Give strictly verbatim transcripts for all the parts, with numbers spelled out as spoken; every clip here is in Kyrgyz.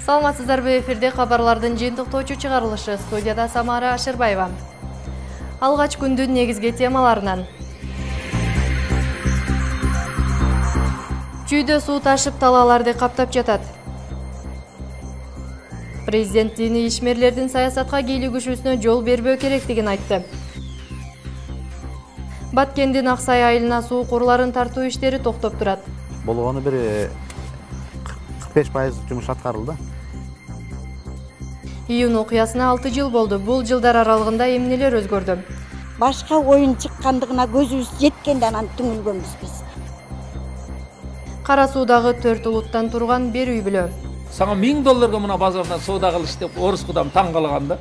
Саламатсыздарбы, эфирде кабарлардын жыйынтыктоочу чыгарылышы, студияда Самара Ашырбаева. Алгач күндүн негизги темаларынан. Чүйдө суу ташып талааларды каптап жатат. Президент дини ишмерлердин саясатка кийлигишүүсүнө жол бербөө керектигин айтты. Баткендин Аксай айылына суу курларын тартуу иштери токтоп турат. Болгону бир кырк беш пайыз жумуш аткарылды. Июнь окуясына алты жыл болду. Бул жылдар аралыгында эмнелер өзгөрдү? Башка оюн чыккандыгына көзүбүз жеткенде анан түңүлгөнбүз биз. Кара Суудагы төрт улуттан турган бир үй бүлө. Сага миң долларга мына базарда соода кылыш деп орус кудам таң калган да.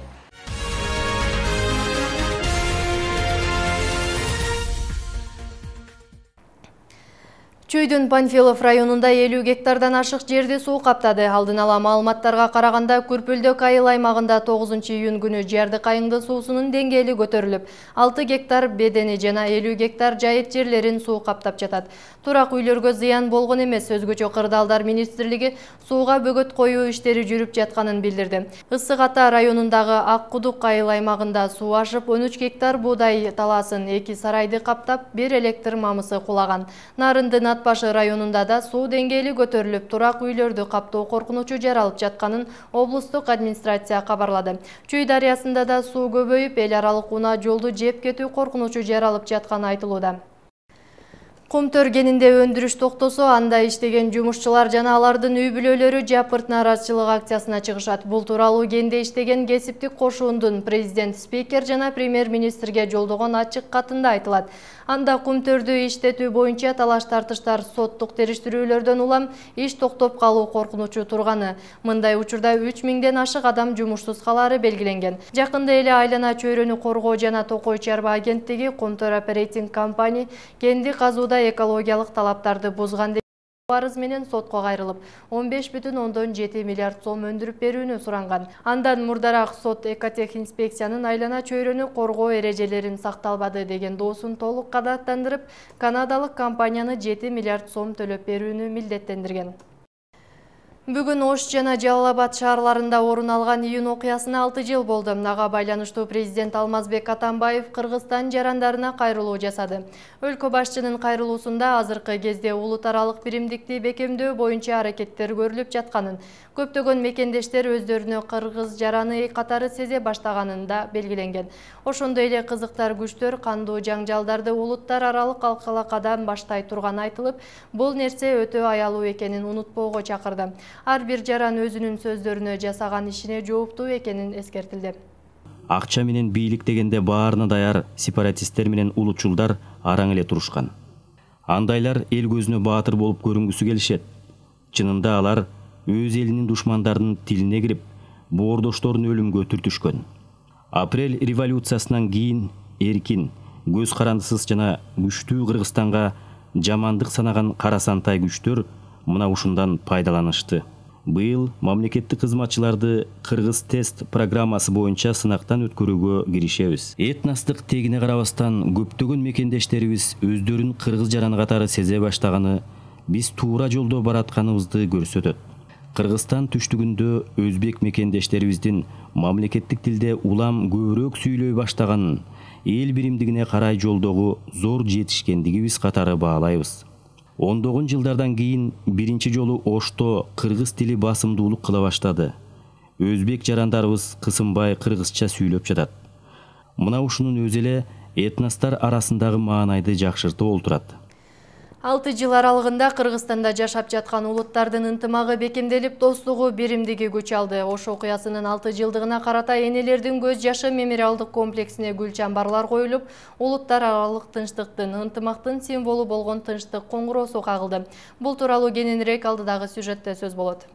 Чүйдүн Панфилов районунда элүү гектардан ашык жерди суу каптады. Алдын ала маалыматтарга караганда, Күрпүлдүк айыл аймагында тогузунчу июнь күнү Жарды кайыңды суусунун деңгээли көтөрүлүп, алты гектар бедени жана элүү гектар жайыт жерлерин суу каптап жатат. Турак үйлөргө зыян болгон эмес. Өзгөчө Кырдаалдар министрлиги сууга бөгөт коюу иштери жүрүп жатканын билдирди. Ысык Ата районундагы Ак Кудук айыл аймагында суу ашып, он үч гектар буудай талаасын, эки сарайды каптап, бир электр мамысы кулаган. Нарындын Башы районунда да суу деңгээли көтөрүлүп, турак үйлөрдү каптоо коркунучу жаралып жатканын облустук администрация кабарлады. Чүй дарыясында да суу көбөйүп, эл аралык унаа жолду жеп кетүү коркунучу жаралып жатканы айтылууда. Кумтөр кенинде өндүрүш токтосо, анда иштеген жумушчулар жана алардын үй бүлөлөрү жапырт нааразычылык акциясына чыгышат. Бул тууралуу кенде иштеген кесиптик кошуундун президент, спикер жана премьер-министрге жолдогон ачык катында айтылат. Анда кумтөрдү иштетүү боюнча талаш-тартыштар, соттук териштирүүлөрдөн улам иш токтоп калуу коркунучу турганы. Мындай учурда үч миңден ашык адам жумушсуз калаары белгиленген. Жакында эле Айлана чөйрөнү коргоо жана Токой чарба агенттиги Кумтөр оперейтинг компания кенди казууда экологиялык талаптарды бузган деп арыз менен сотко кайрылып, он беш бүтүн ондон жети миллиард сом өндүрүп берүүнү суранган. Андан мурдараак сот экотех инспекциянын Айлана чөйрөнү коргоо эрежелерин сакталбады деген доосун толук канааттандырып, канадалык компанияны жети миллиард сом төлөп берүүнү милдеттендирген. Бүгүн Ош жана Жалал-Абад шаарларында орун алган июнь окуясына алты жыл болду. Ага байланыштуу президент Алмазбек Атамбаев Кыргызстан жарандарына кайрылуу жасады. Өлкө башчынын кайрылуусунда азыркы кезде улут аралык биримдикти бекемдөө боюнча аракеттер көрүлүп жатканын, көптөгөн мекендештер өздөрүнө кыргыз жараны катары сезе баштаганын да белгиленген. Ошондой эле кызыктар күчтөр кандуу жаңжалдарды улуттар аралык алкалакадан баштай турганы айтылып, бул нерсе өтө аялуу экенин унутпоого чакырды. Ар бир жаран өзүнүн сөздөрүнө, жасаган ишине жооптуу экенин эскертилди. Акча менен бийлик дегенде баарына даяр сепаратисттер менен улутчулдар араң эле турушкан. Андайлар эл көзүнө баатыр болуп көрүнгүсү келишет. Чынында алар өз элинин душмандарынын тилине кирип, боордошторун өлүмгө түртүшкөн. Апрель революциясынан кийин эркин, көз карандысыз жана күчтүү Кыргызстанга жамандык санаган карасантай күчтөр мына ушундан пайдаланышты. Быйыл мамлекеттик кызматчыларды Кыргыз тест программасы боюнча сынактан өткөрүүгө киришебиз. Этностук тегине карабастан көптөгөн мекендештерибиз өздөрүн кыргыз жараны катары сезе баштаганы биз туура жолдо баратканыбызды көрсөтөт. Кыргызстан түштүгүндө өзбек мекендештерибиздин мамлекеттик тилде улам көбүрөөк сүйлөй баштаганын, эл биримдигине карай жолдогу зор жетишкендигибиз катары баалайбыз. Ондогон жылдардан кийин биринчи жолу Ошто кыргыз тили басымдуулук кыла баштады. Өзбек жарандарыбыз кысынбай кыргызча сүйлөп жатат. Мына ушунун өзү эле этностор арасындагы маанайды жакшыртып олтурат. алты жыл аралыгында Кыргызстанда жашап жаткан улуттардын ынтымагы бекемделип, достугу, биримдиги күч алды. Ош окуясынын алты жылдыгына карата энелердин көз жашы мемориалдык комплексине гүл чамбарлар коюлуп, улуттар аралык тынчтыктын, ынтымактын символу болгон тынчтык коңгуроосу кагылды. Бул тууралуу кененирээк алдыдагы сюжетте сөз болот.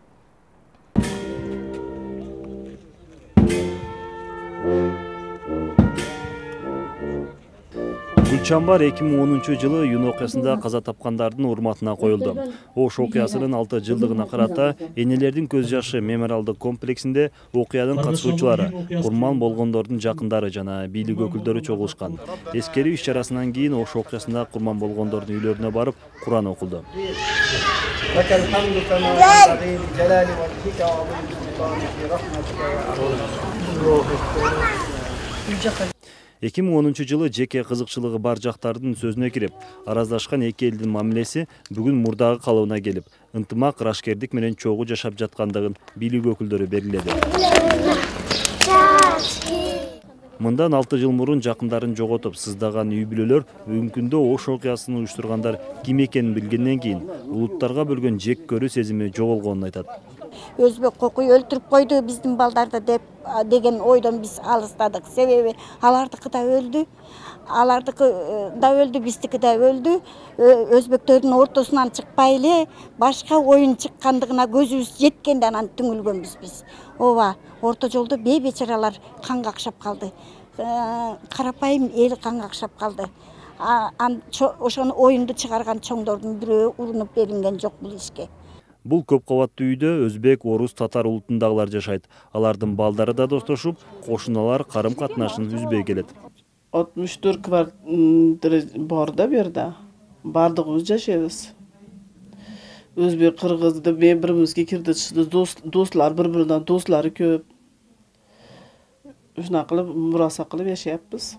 Гүлчамбар эки миң онунчу жылы июнь окуясында каза тапкандардын урматына коюлду. Ош окуясынын алты жылдыгына карата энелердин көз жашы мемориалдык комплексинде окуянын катышуучулары, курман болгондордун жакындары жана бийлик өкүлдөрү чогулушкан. Эскерүү иш чарасынан кийин Ош окуясында курман болгондордун үйлөрүнө барып Куран окулду. لك الحمد كما ينبغي لجلال وجهك وعظيم سلطانك برحمتك يا ارحم. эки миң онунчу жылы жеке кызыкчылыгы бар жактардын сөзүнө кирип, араздашкан эки элдин мамилеси бүгүн мурдагы калыбына келип, ынтымак, ырашкердик менен чогуу жашап жаткандыгын бийлик өкүлдөрү белгиледи. Мындан алты жыл мурун жакындарын жоготуп сыздаган үй бүлөлөр бүгүнкү күндө Ош окуясын уюштургандар ким экенин билгенден кийин улуттарга бөлгөн жек көрүү сезими жоголгонун айтат. Өзбек кокуй өлтүрүп койду биздин балдарды деп деген ойдон биз алыстадык. Себеби алардыкы да өлдү, алардыкы да өлдү, биздики да өлдү. Өзбектөрдүн ортосунан чыкпай эле башка оюн чыккандыгына көзүбүз жеткенде анан түңүлгөнбүз биз. Ооба, орто жолдо бейбечаралар канга акшап калды. Карапайым эл канга акшап калды. Ошону оюнду чыгарган чоңдордун бирөө урунуп берилген жок бул ишке. Бул көп кабаттуу үйдө өзбек, орус, татар улутундагылар жашайт. Алардын балдары да достошуп, кошуналар карым катнашын үзбөй келет. алтымыш төрт квартира бар да бу жерде. Бардыгыбыз жашайбыз. Өзбек, кыргызды бири-бирибизге кирди чыкты, достлар бири-бириnden достлары көп. Ушуна кылып, мураса кылып жашайбыз.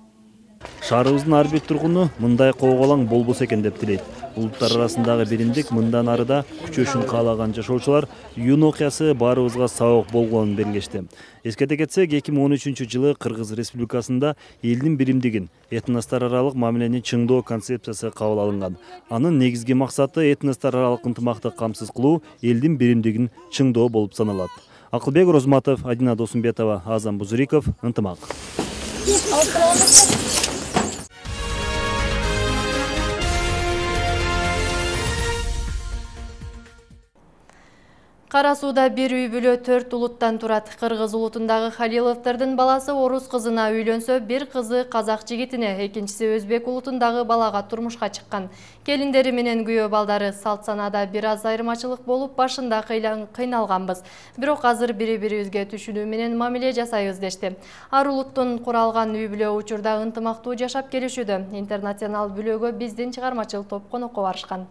Шаарыбыздын ар бир тургуну мындай кооголаң болбосо экен деп тилейт. Улуттар арасындагы биримдик мындан ары да күчөшүн каалаган жашоочулар июнь окуясы баарыбызга сабак болгонун белгилешти. Эскерте кетсек, эки миң он үчүнчү жылы Кыргыз Республикасында элдин биримдигин, этностор аралык мамилени чыңдоо концепциясы кабыл алынган. Анын негизги максаты этностор аралык ынтымакты камсыз кылуу, элдин биримдигин чыңдоо болуп саналат. Акылбек Розматов, Адина Досумбетова, Азам Бузуриков, Ынтымак. Кара сууда бир үй бүлө төрт улуттан турат. Кыргыз улутундагы Халиловдордун баласы орус кызына үйлөнсө, бир кызы казак жигитине, экинчиси өзбек улутундагы балага турмушка чыккан. Келиндери менен күйөө балдары салт санада бир аз айырмачылык болуп, башында кыйналганбыз. Бирок азыр бири-бирибизге түшүнүү менен мамиле жасайбыз дешти. Ар улуттун куралган үй бүлө учурда ынтымактуу жашап келишүүдө. Интернационал бүлөгө биздин чыгармачыл топ конокко барышкан.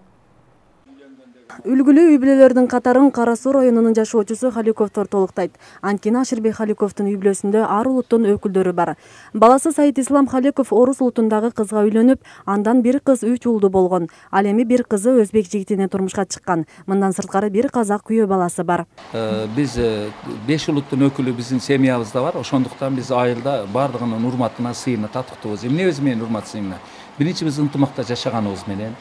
Үлгүлүү үй бүлөлөрдүн катарын Кара Суу районунун жашоочусу Халиковдор толуктайт. Анткени Аширбек Халиковдун үй бүлөсүндө ар улуттун өкүлдөрү бар. Баласы Саид Ислам Халиков орус улутундагы кызга үйлөнүп, андан бир кыз үч уулду болгон. Ал эми бир кызы өзбек жигитине турмушка чыккан. Мындан сырткары бир казак күйөө баласы бар. Биз беш улуттун өкүлү биздин семьябызда бар. Ошондуктан биз айылда бардыгынын урматына, сыйына татыктуубуз. Эмне менен урмат сыйына? Биринчи биз ынтымакта жашаганыбыз менен.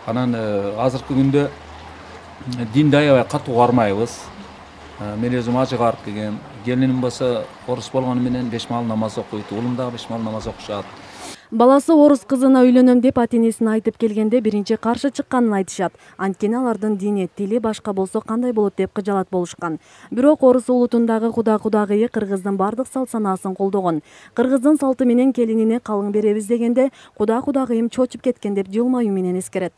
Анан азыркы күндө динди аябай катуу кармайбыз. Мен өзүм ажыга барып келгем. Келиним болсо орус болгону менен беш маал намаз окуйт. Уулум дагы беш маал намаз окушат. Баласы орус кызына үйлөнөм деп ата-энесине айтып келгенде биринчи каршы чыкканын айтышат. Анткени алардын дини, тили башка болсо кандай болот деп кыжалат болушкан. Бирок орус улутундагы куда кудагыйы кыргыздын бардык салт санаасын колдогон. Кыргыздын салты менен келинине калың беребиз дегенде куда кудагыйым чочуп кеткен деп жылмаюу менен эскерет.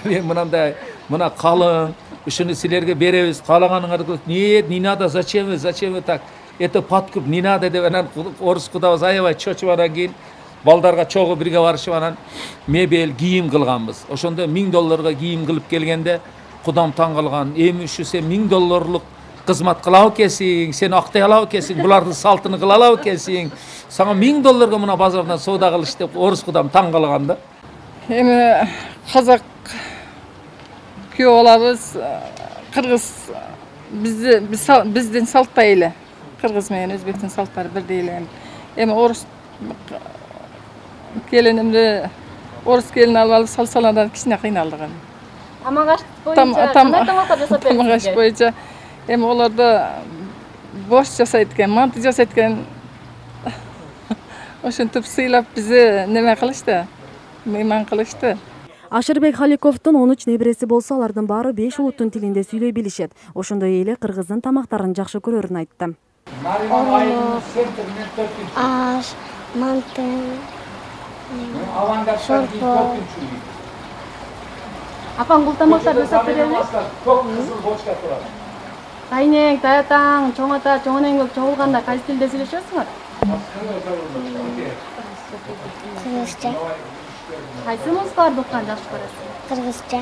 Мен мынандай, мына калың, ушуну силерге беребиз, каалаганыңарды нет, не надо, зачем вы, зачем вы так? Это подкуп, не надо деп анан орус кудабыз аябай чочуп анан кийин балдарга чогуу бирге барышып анан мебель, кийим кылганбыз. Ошондо миң долларга кийим кылып келгенде кудам таң калган. Эми ушу сен миң долларлык кызмат кылабы экенсиң, сен актай алабы экенсиң, булардын салтын кыла алабы экенсиң. Сага миң долларга мына базардан соода кылыш деп орус кудам таң калган да. Эми казак күйөө алабыз, кыргыз бизди биздин салттай эле. Кыргыз менен өзбектин салттары бирдей эле. Эми орус келинимди орус келин алып алып салсалардан кичине кыйналдык. Тамак боюнча кандай тамактар жасап бердиңиз? Тамак боюнча эми олордо борщ жасайт экен, манты жасайт экен. Ошентип сыйлап бизди неме кылышты, мейман кылышты. Аширбек Халиковдун он үч небереси болсо, алардын баары беш улуттун тилинде сүйлөй билишет. Ошондой эле кыргыздын тамактарын жакшы көрөрүн айтты. Аш, манты, шорпо. Апаң бул тамактарды жасап береби? Тайнек, таятаң, чоң ата, чоң энең көп чогулганда кайсы тилде сүйлөшөсүңөр? Кыргызча. Кайсы музыкаларды укканды жакшы көрөсүң? Кыргызча.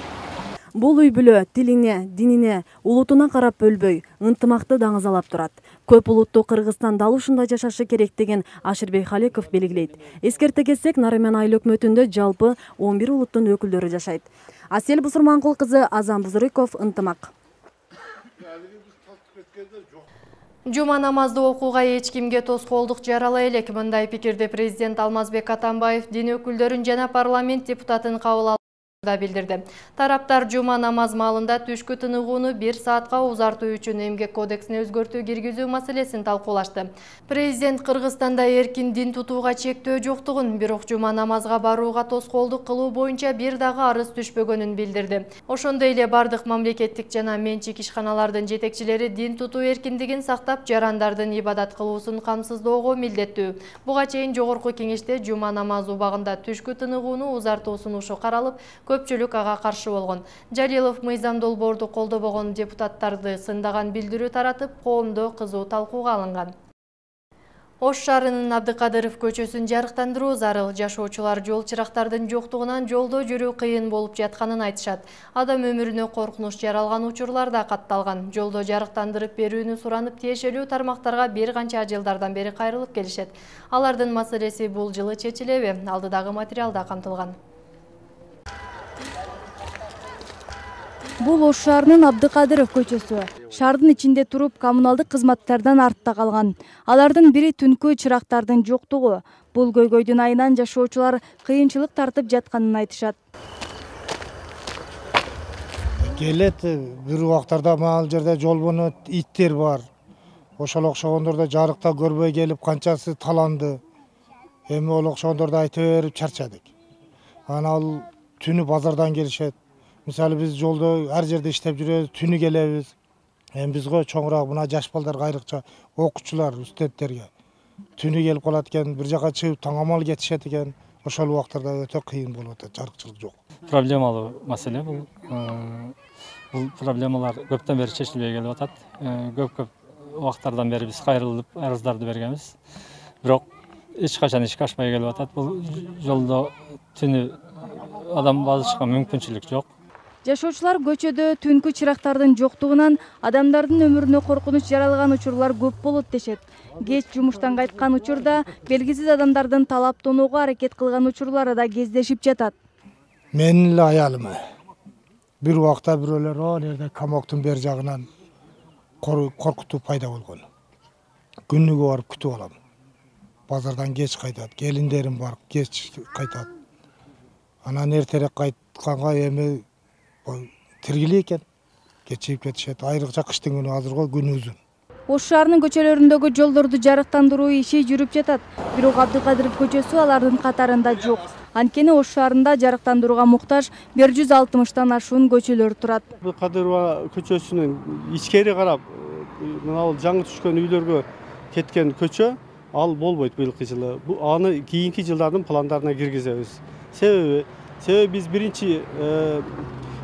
Бул үй бүлө тилине, динине, улутуна карап бөлбөй, ынтымакты даңазалап турат. Көп улуттуу Кыргызстанда ал ушундай жашашы керек деген Аширбек Халеков белгилейт. Эскерте кетсек, Нарымен айыл өкмөтүндө жалпы он бир улуттун өкүлдөрү жашайт. Асель Бусурманкул кызы, Азам Бузуриков, ынтымак. Жума намазды окууга эч кимге тоскоолдук жарала элек. Мындай пикирди президент Алмазбек Атамбаев дин өкүлдөрүн жана парламент депутатын кабыл да билдирди. Тараптар жума намаз маалында түшкү тыныгууну бир саатка узартуу үчүн эмгек кодексине өзгөртүү киргизүү маселесин талкуулашты. Президент Кыргызстанда эркин дин тутууга чектөө жоктугун, бирок жума намазга барууга тоскоолдук кылуу боюнча бир дагы арыз түшпөгөнүн билдирди. Ошондой эле бардык мамлекеттик жана менчик ишканалардын жетекчилери дин тутуу эркиндигин сактап, жарандардын ибадат кылуусун камсыздоого милдеттүү. Буга чейин жогорку кеңеште жума намазы убагында түшкү тыныгууну узартуу сунушу каралып, көпчүлүк ага каршы болгон. Жалилов мыйзам долбоорду колдобогон депутаттарды сындаган билдирүү таратып, коомдо кызуу талкууга алынган. Ош шаарынын Абдыкадыров көчөсүн жарыктандыруу зарыл. Жашоочулар жол чырактардын жоктугунан жолдо жүрүү кыйын болуп жатканын айтышат. Адам өмүрүнө коркунуч жаралган учурлар да катталган. Жолдо жарыктандырып берүүнү суранып, тиешелүү тармактарга бир канча жылдардан бери кайрылып келишет. Алардын маселеси бул жылы чечилеби? Алдыдагы материалда камтылган. Бул Ош шаарынын Абдыкадыров көчөсү. Шаардын ичинде туруп, коммуналдык кызматтардан артта калган. Алардын бири түнкү чырактардын жоктугу. Бул көйгөйдүн айынан жашоочулар кыйынчылык тартып жатканын айтышат. Келет бир убактарда маал жерде жолбону иттер бар. Ошол окшогондордо жарыкта көрбөй келип канчасы таланды. Эми ол окшогондорду айта берип чарчадык. Анан ал түнү базардан келишет. Мисалы биз жолдо ар жерде иштеп жүрөбүз, түнү келебиз. Эми бизге чоңураак мына жаш балдар айрыкча окуучулар, студенттерге түнү келип калат экен, бир жака чыгып таңамал кетишет экен. Ошол убактарда өтө кыйын болуп атат, жарыкчылык жок. Проблемалуу маселе бул. Бул проблемалар көптөн бери чечилбей келип атат. Көп-көп убактардан бери биз кайрылып арыздарды бергенбиз. Бирок эч качан ишке ашпай келип атат. Бул жолдо түнү адам басышка мүмкүнчүлүк жок. Жашоочулар көчөдө түнкү чырактардын жоктугунан адамдардын өмүрүнө коркунуч жаралган учурлар көп болот дешет. Кеч жумуштан кайткан учурда белгисиз адамдардын талап тоноого аракет кылган учурлары да кездешип жатат. Менин эле аялым бир убакта бирөөлөр о жерде камоктун бер жагынан коркутуу пайда болгон. Күнүгө барып күтүп алам. Базардан кеч кайтат, келиндерим бар, кеч кайтат. Анан эртерээк кайтканга эми тиргилик экен, кечип кетишет. Айрыкча кыштын күнү азыркы күнү узун. Ош шаарынын көчөлөрүндөгү жолдорду жарыктандыруу иши жүрүп жатат. Бирок Абдыкадыров көчөсү алардын катарында жок. Анткени Ош шаарында жарыктандырууга муктаж бир жүз алтымыштан ашуун көчөлөр турат. Абдыкадырова көчөсүнүн ичкери карап, мына бул жаңы түшкөн үйлөргө кеткен көчө ал болбойт быйылкы жылы. Аны кийинки жылдардын пландарына киргизебиз. Себеби себеби биз биринчи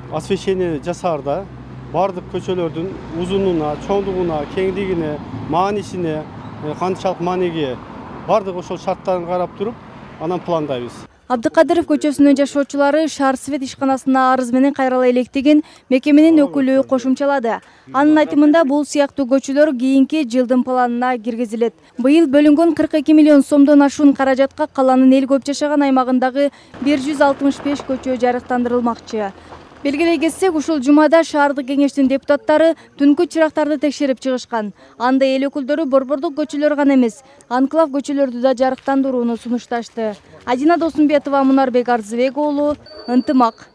освещение жасаарда бардык көчөлөрдүн узунуна, чоңдугуна, кеңдигине, маанисине, канчалык маанеге бардык ошол шарттарын карап туруп, анан пландайбыз. Абдыкадыров көчөсүнүн жашоочулары Шаар свет ишканасына арыз менен кайрыла электигин мекеменин өкүлү кошумчалады. Анын айтымында бул сыяктуу көчөлөр кийинки жылдын планына киргизилет. Быйыл бөлүнгөн кырк эки миллион сомдон ашуун каражатка каланын эл көп жашаган аймагындагы бир жүз алтымыш беш көчө жарыктандырылмакчы. Белгилей кетсек, ушул жумада шаардык кеңештин депутаттары түнкү чырактарды текшерип чыгышкан. Анда эл өкүлдөрү борбордук көчөлөр гана эмес, анклав көчөлөрдү да жарыктандырууну сунушташты. Адина Досумбетова, Мунарбек Арзыбек уулу, ынтымак.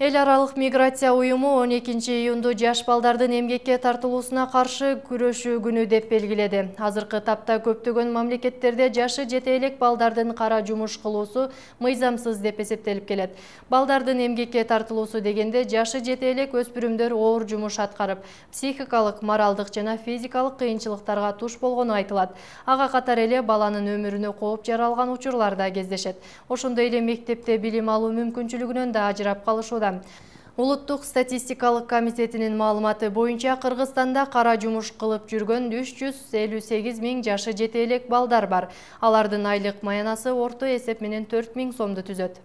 Эл аралык миграция уюму он экинчи июнду жаш балдардын эмгекке тартылуусуна каршы күрөшүү күнү деп белгиледи. Азыркы тапта көптөгөн мамлекеттерде жашы жете элек балдардын кара жумуш кылуусу мыйзамсыз деп эсептелип келет. Балдардын эмгекке тартылуусу дегенде жашы жете элек өспүрүмдөр оор жумуш аткарып, психикалык, моралдык жана физикалык кыйынчылыктарга туш болгону айтылат. Ага катар эле баланын өмүрүнө кооп жаралган учурлар да кездешет. Ошондой эле мектепте билим алуу мүмкүнчүлүгүнөн да ажырап калышууда. Улуттук статистикалык комитетинин маалыматы боюнча Кыргызстанда кара жумуш кылып жүргөн үч жүз элүү сегиз миң жашы жете элек балдар бар. Алардын айлык маянасы орто эсеп менен төрт миң сомду түзөт.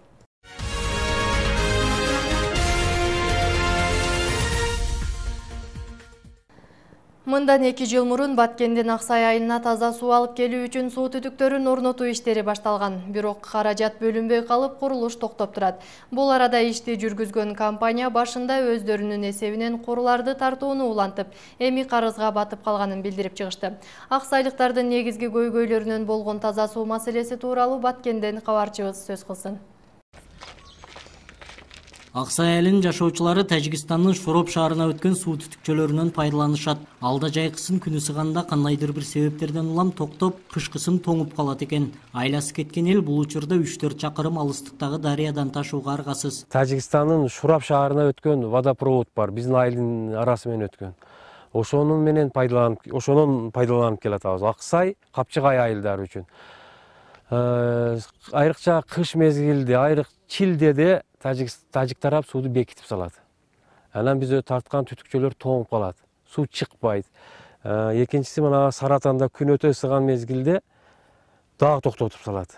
Мындан эки жыл мурун Баткендин Аксай айылына таза суу алып келүү үчүн суу түтүктөрүн орнотуу иштери башталган. Бирок каражат бөлүнбөй калып, курулуш токтоп турат. Бул арада ишти жүргүзгөн компания башында өздөрүнүн эсебинен куруларды тартууну улантып, эми карызга батып калганын билдирип чыгышты. Аксайлыктардын негизги көйгөйлөрүнөн болгон таза суу маселеси тууралуу Баткенден кабарчыбыз сөз кылсын. Аксай айылынын жашоочулары Тажикстандын Шороп шаарына өткөн суу түтүкчөлөрүнөн пайдаланышат. Алда жайкысын күнү сыганда кандайдыр бир себептерден улам токтоп, кышкысын тоңуп калат экен. Айласы кеткен эл бул учурда үч төрт чакырым алыстыктагы дарыядан ташууга аргасыз. Тажикстандын Шороп шаарына өткөн водопровод бар, биздин айылдын арасы менен өткөн. Ошонун менен пайдаланып, ошонун пайдаланып келатабыз. Аксай, Капчыгай айылдары үчүн. Айрыкча кыш мезгилде, айрык чилдеде Тажик тарап сууду бекитип салат. Анан биз тарткан түтүкчөлөр тоңуп калат. Суу чыкпайт. Экинчиси мына Саратанда күн өтө ысыган мезгилде дагы токтотуп салат.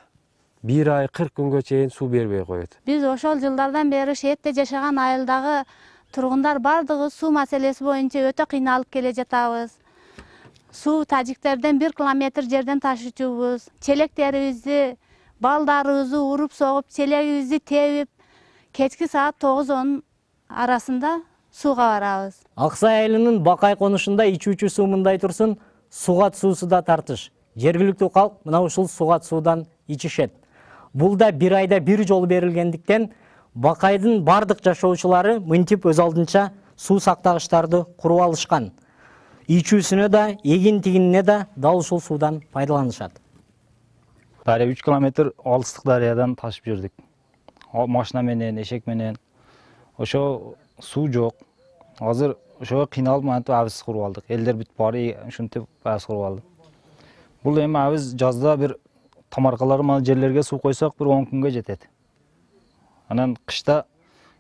Бир ай кырк күнгө чейин суу бербей коет. Биз ошол жылдардан бери шеетте жашаган айылдагы тургундар бардыгы суу маселеси боюнча өтө кыйналып келе жатабыз. Суу тажиктерден бир километр жерден ташычубуз. Челектерибизди, балдарыбызды уруп согуп, челегибизди тебип, кечки саат тогуз он арасында сууга барабыз. Аксай айылынын Бакай конушунда ичүүчү суу мындай турсун, сугат суусу да тартыш. Жергиликтүү калк мына ушул сугат суудан ичишет. Бул да бир айда бир жолу берилгендиктен Бакайдын бардык жашоочулары мынтип өз алдынча суу сактагычтарды куруп алышкан. Ичүүсүнө да, эгин-тигинине да дал ушул суудан пайдаланышат. Дарыя үч километр алыстык дарыядан ташып жүрдүк. Машина менен, эшек менен. Ошо суу жок. Азыр ошого кыйналып мантип абыз куруп алдык. Элдер бүт бары ушинтип абыз куруп алды. Бул эми абыз жазда бир тамаркалар мал жерлерге суу койсок бир он күнгө жетет. Анан кышта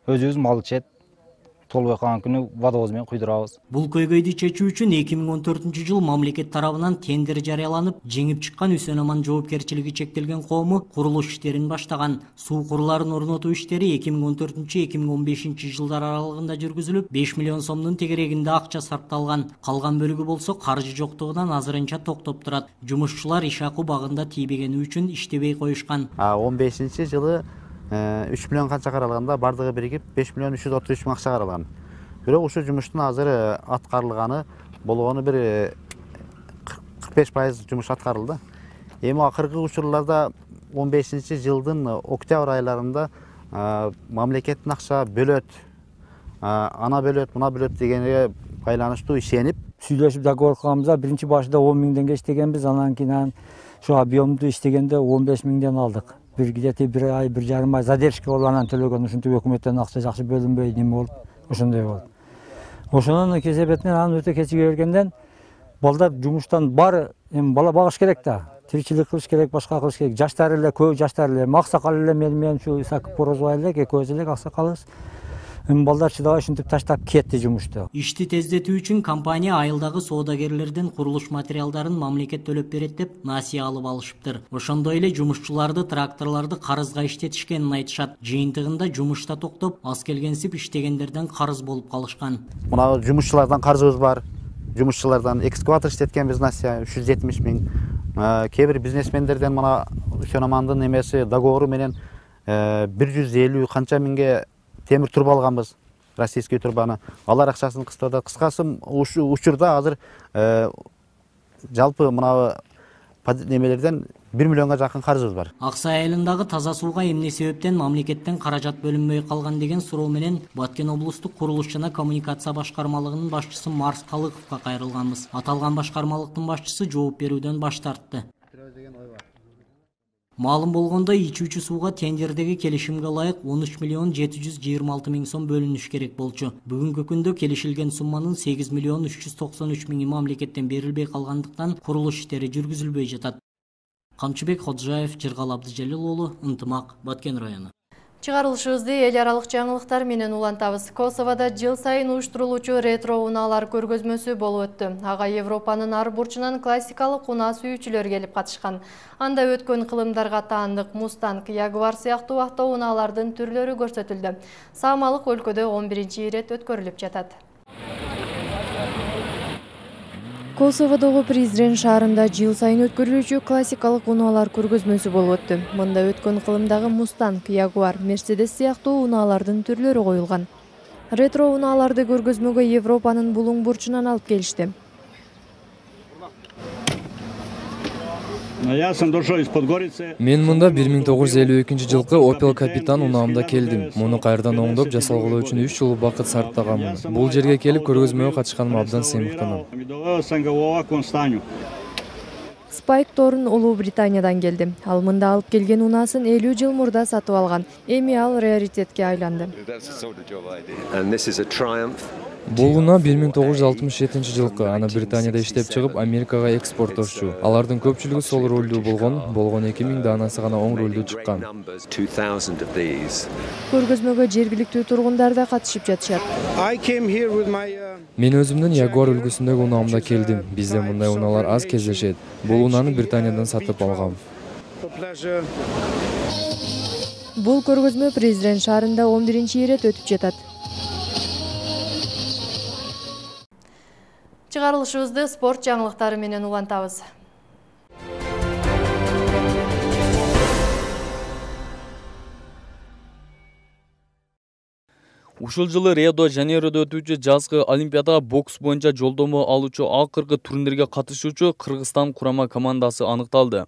өзүбүз мал ичет. Толбой калган күнү водовоз менен куйдурабыз. Бул көйгөйдү чечүү үчүн эки миң он төртүнчү жыл мамлекет тарабынан тендер жарыяланып, жеңип чыккан Үсөн Аман жоопкерчилиги чектелген коому курулуш иштерин баштаган. Суу куруларын орнотуу иштери эки миң он төртүнчү эки миң он бешинчи жылдар аралыгында жүргүзүлүп, беш миллион сомдун тегерегинде акча сарпталган. Калган бөлүгү болсо каржы жоктугунан азырынча токтоп турат. Жумушчулар иш акы багында тийбегени үчүн иштебей коюшкан. он бешинчи жылы үч миллион канча каралганда бардыгы биригип беш миллион үч жүз отуз үч миң акча каралган. Бирок ушул жумуштун азыр аткарылганы болгону бир кырк беш пайыз жумуш аткарылды. Эми акыркы учурларда он бешинчи жылдын октябрь айларында мамлекеттин акча бөлөт, ана бөлөт, мына бөлөт дегенге байланыштуу ишенип, сүйлөшүп договор кылганбыз. Биринчи башында он миңденге иштегенбиз, анан кийин ошо объемду иштегенде он беш миңден алдык. Бир где-то бир ай, бир жарым ай задержка болуп анан төлөгөн. Ушинтип өкмөттөн акча жакшы бөлүнбөй неме болуп, ошондой болду. Ошонун кесепетинен анан өтө кечиге бергенден балдар жумуштан бар, эми бала багыш керек да. Тиричилик кылыш керек, башка кылыш керек. Жаштар эле, көп жаштар эле, аксакал эле менен менен ушу Исаков Порозбай эле, экөөбүз эле аксакалыбыз. Эми балдар чыдабай ушинтип таштап кетти жумушту. Ишти тездетүү үчүн компания айылдагы соодагерлерден курулуш материалдарын мамлекет төлөп берет деп насыя алып алышыптыр. Ошондой эле жумушчуларды тракторларды карызга иштетишкенин айтышат. Жыйынтыгында жумушта токтоп, аз келгенсип иштегендерден карыз болуп калышкан. Мына жумушчулардан карызыбыз бар. Жумушчулардан экскаватор иштеткенбиз насыя үч жүз жетимиш миң. Кээ бир бизнесмендерден мына Үсөн Амандын эмеси договору менен бир жүз элүү канча миңге темир турба алганбыз, российский турбаны. Алар акчасын кыстады. Кыскасы учурда азыр жалпы мына немелерден бир миллионго жакын карызыбыз бар. Аксай айылындагы таза сууга эмне себептен мамлекеттен каражат бөлүнбөй калган деген суроо менен Баткен облустук курулуш жана коммуникация башкармалыгынын башчысы Марс Калыковго кайрылганбыз. Аталган башкармалыктын башчысы жооп берүүдөн баш тартты. Маалым болгондой, ичүүчү сууга тендердеги келишимге ылайык он үч миллион жети жүз жыйырма алты миң сом бөлүнүш керек болчу. Бүгүнкү күндө келишилген сумманын сегиз миллион үч жүз токсон үч миңи мамлекеттен берилбей калгандыктан курулуш иштери жүргүзүлбөй жатат. Камчыбек Ходжаев, Жыргал Абдыжалил уулу, Ынтымак, Баткен району. Чыгарылышыбызды эл аралык жаңылыктар менен улантабыз. Косовода жыл сайын уюштурулуучу ретро унаалар көргөзмөсү болуп өттү. Ага Европанын ар бурчунан классикалык унаа сүйүүчүлөр келип катышкан. Анда өткөн кылымдарга таандык Мустанг, Ягуар сыяктуу авто унаалардын түрлөрү көрсөтүлдү. Саамалык өлкөдө он биринчи ирет өткөрүлүп жатат. Косоводогу Призрен шаарында жыл сайын өткөрүлүүчү классикалык унаалар көргөзмөсү болуп өттү. Мында өткөн кылымдагы Мустанг, Ягуар, Мерседес сыяктуу унаалардын түрлөрү коюлган. Ретро унааларды көргөзмөгө Европанын булуң бурчунан алып келишти. Мен мында бир миң тогуз жүз элүү экинчи жылкы Opel Капитан унаамда келдим. Муну кайрадан оңдоп жасалгылоо үчүн үч жыл убакыт сарптаганмын. Бул жерге келип көргөзмөгө катышканыма абдан сыймыктанам. Спайк Торн Улуу Британиядан келди. Ал мында алып келген унаасын элүү жыл мурда сатып алган. Эми ал раритетке айланды. Бул унаа бир миң тогуз жүз алтымыш жетинчи жылкы. Аны Британияда иштеп чыгып, Америкага экспорттошчу. Алардын көпчүлүгү сол рулдуу болгон, болгон эки миң даанасы гана оң рулдуу чыккан. Көргөзмөгө жергиликтүү тургундар да катышып жатышат. Мен өзүмдүн Ягуар үлгүсүндөгү унаамда келдим. Бизде мындай унаалар аз кездешет. Бул унааны Британиядан сатып алгам. Бул көргөзмө Призрен шаарында он биринчи ирет өтүп жатат. Чыгарылышыбызды спорт жаңылыктары менен улантабыз. Ушул жылы Рио-де-Жанейродо өтүүчү жазгы Олимпиадага бокс боюнча жолдомо алуучу акыркы турнирге катышуучу Кыргызстан курама командасы аныкталды.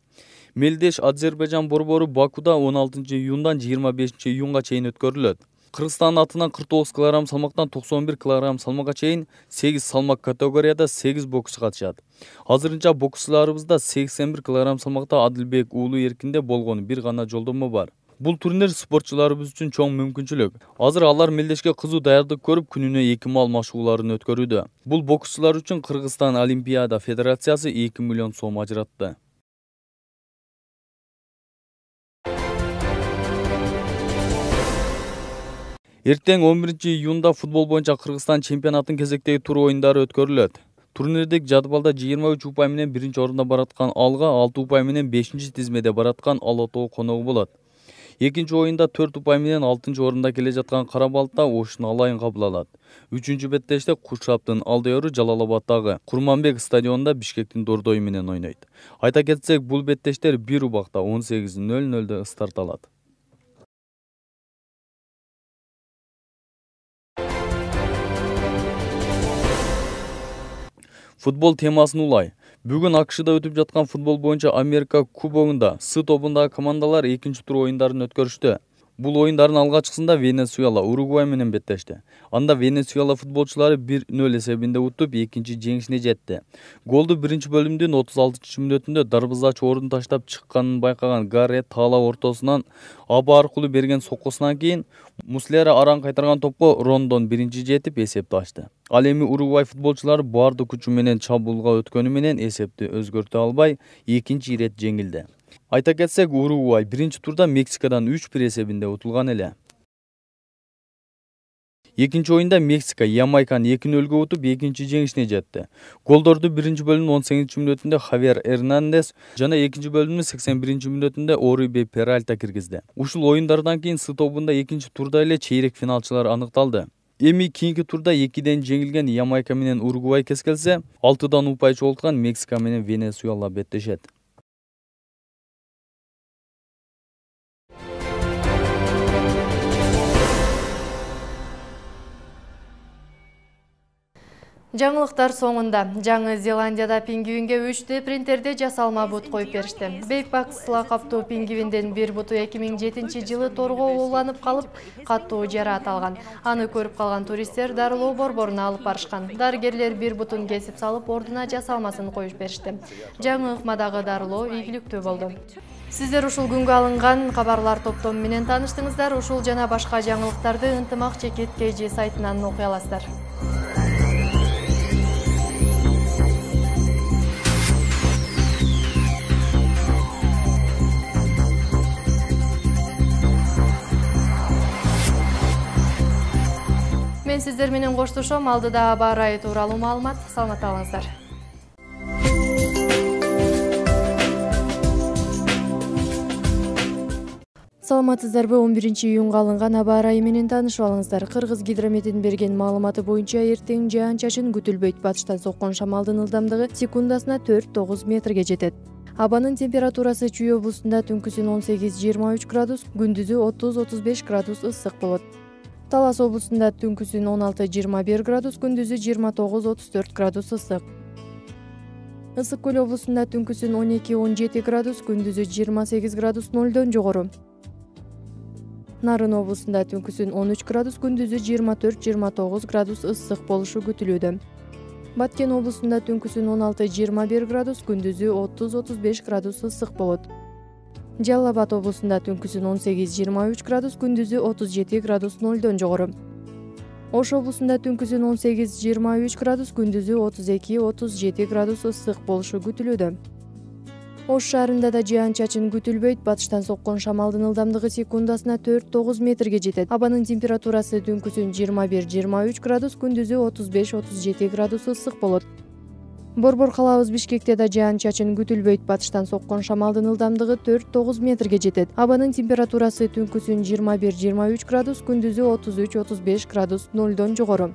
Мелдеш Азербайжан борбору Бакуда он алтынчы июндан жыйырма бешинчи июнга чейин өткөрүлөт. Кыргызстан атынан кырк тогуз килограмм салмактан токсон бир килограмм салмакка чейин сегиз салмак категорияда сегиз боксчу катышат. Азырынча боксчуларыбызда сексен бир килограмм салмакта Адилбек уулу эркинде болгон бир гана жолдомо бар. Бул турнир спортчуларыбыз үчүн чоң мүмкүнчүлүк. Азыр алар мелдешке кызуу даярдык көрүп, күнүнө эки маал машыгууларын өткөрүүдө. Бул боксчулар үчүн Кыргызстан Олимпиада федерациясы эки миллион сом ажыратты. Эртең он биринчи июнда футбол боюнча Кыргызстан чемпионатын кезектеги тур оюндары өткөрүлөт. Турнирдик жадвалда жыйырма үч упай менен биринчи орунда бараткан Алга, алты упай менен бешинчи тизмеде бараткан Ала Тоо коногу болот. Экинчи оюнда төрт упай менен алтынчы орунда келе жаткан Кара Балыкта Ошун Алайын кабыл алат. Үчүнчү беттеште Куршаптын Алдыору Жалал-Абаддагы Курманбек стадионунда Бишкектин Дордою менен ойнойт. Айта кетсек, бул беттештер бир убакта он сегиз нөл нөлдө старт алат. Футбол темасын улай. Бүгүн АКШда өтүп жаткан футбол боюнча Америка кубогунда С тобундагы командалар экинчи тур оюндарын өткөрүштү. Бул оюндардын алгачкысында Венесуэла Уругвай менен беттешти. Анда Венесуэла футболчулары бир нөл эсебинде утуп, экинчи жеңишине жетти. Голду биринчи бөлүмдүн отуз алтынчы мүнөтүндө дарбызачы орун таштап чыкканын байкаган Гаррет таала ортосунан аба аркылуу берген соккусунан кийин Муслера аран кайтарган топко Рондон биринчи жетип эсепти ачты. Ал эми Уругвай футболчулары баардык күчү менен чабуулга өткөнү менен эсепти өзгөртө албай, экинчи ирет жеңилди. Айта кетсек, Уругвай биринчи турда Мексикадан үч бир эсебинде утулган эле. Экинчи оюнда Мексика Ямайканы эки нөлгө утуп, экинчи жеңишине жетти. Голдорду биринчи бөлүмдүн он сегизинчи мүнөтүндө Хавьер Эрнандес жана экинчи бөлүмдүн сексен биринчи мүнөтүндө Орибе Перальта киргизди. Ушул оюндардан кийин С тобунда экинчи турда эле чейрек финалчылар аныкталды. Эми кийинки турда экиден жеңилген Ямайка менен Уругвай кескелсе, алтыдан упай чогулткан Мексика менен Венесуэла беттешет. Жаңылыктар соңунда. Жаңы Зеландияда пингвинге үч дэ принтерде жасалма бут коюп беришти. Бейкбакс лакаптуу пингвиндин бир буту эки миң жетинчи жылы торго ууланып калып, каттуу жараат алган. Аны көрүп калган туристтер дарылоо борборуна алып барышкан. Дарыгерлер бир бутун кесип салып, ордуна жасалмасын коюп беришти. Жаңы ыкмадагы дарылоо ийгиликтүү болду. Сиздер ушул күнгө алынган кабарлар топтому менен тааныштыңыздар. Ушул жана башка жаңылыктарды Ынтымак Чекит кей жи сайтынан окуй аласыздар. Мен сиздер менен коштошом. Алдыда аба ырайы тууралуу маалымат. Саламатта калыңыздар. Саламатсыздарбы? он биринчи июнга алынган аба ырайы менен таанышып алыңыздар. Кыргыз гидрометинин берген маалыматы боюнча эртең жаан-чачын күтүлбөйт. Батыштан соккон шамалдын ылдамдыгы секундасына төрт тогуз метрге жетет. Абанын температурасы Чүй облусунда түнкүсүн он сегиз жыйырма үч градус, күндүзү отуз отуз беш градус ысык болот. Талас облусунда түнкүсүн он алты жыйырма бир градус, күндүзү жыйырма тогуз отуз төрт градус ысык. Ысык көл облусунда түнкүсүн он эки он жети градус, күндүзү жыйырма сегиз градус нолдон жогору. Нарын облусунда түнкүсүн он үч градус, күндүзү жыйырма төрт жыйырма тогуз градус ысык болушу күтүлүүдө. Баткен облусунда түнкүсүн он алты жыйырма бир градус, күндүзү отуз отуз беш градус ысык болот. Жалал Абад облусунда түнкүсүн он сегиз жыйырма үч градус, күндүзү отуз жети градус нолдон жогору. Ош облусунда түнкүсүн он сегиз жыйырма үч градус, күндүзү отуз эки отуз жети градус ысык болушу күтүлүүдө. Ош шаарында да жаан-чачын күтүлбөйт. Батыштан соккон шамалдын ылдамдыгы секундасына төрт тогуз метрге жетет. Абанын температурасы түнкүсүн жыйырма бир жыйырма үч градус, күндүзү отуз беш отуз жети градус ысык болот. Борбор калабыз Бишкекте да жаан-чачын күтүлбөйт. Батыштан соккон шамалдын ылдамдыгы төрт тогуз метрге жетет. Абанын температурасы түнкүсүн жыйырма бир жыйырма үч градус, күндүзү отуз үч отуз беш градус нолдон жогору.